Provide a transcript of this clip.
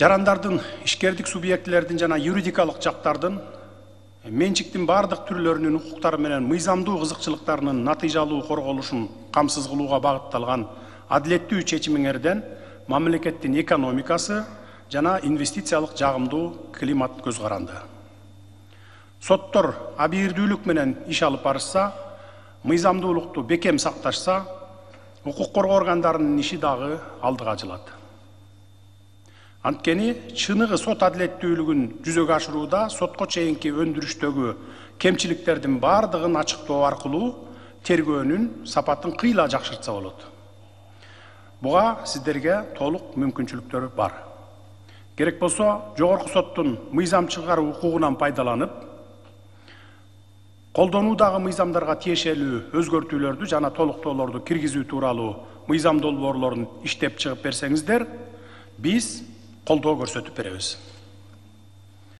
жарандардын, ишкердик субъектилердин жана юридикалык жактардын менчиктин бардык түрлөрүнүн укуктары менен мыйзамдуу кызыкчылыктарынын натыйжалуу корголушун камсыз кылууга багытталган адилеттүү чечимиңерден мамлекеттин экономикасы жана инвестициялык жагымдуу климат көз каранды. Соттор абийирдүүлүк менен иш алып барышса, мыйзамдуулукту бекем сакташса, укук коргоо органдарынын иши дагы алдыга жылат. Анткени чыныгы сот адилеттүүлүгүн жүзөгө ашырууда сотко чейинки өндүрүштөгү кемчиликтердин бардыгын ачыктоо аркылуу тергөөнүн сапатын кыйла жакшыртса болот. Буга сиздерге толук мүмкүнчүлүктөр бар. Керек болсо, жогорку соттун мыйзам чыгаруу укугунан пайдаланып, колдонуудагы мыйзамдарга тиешелүү өзгөртүүлөрдү жана толуктоолорду киргизүү тууралуу мыйзам долбоорлорун иштеп чыгып берсеңиздер, биз колдоо көрсөтүп беребиз.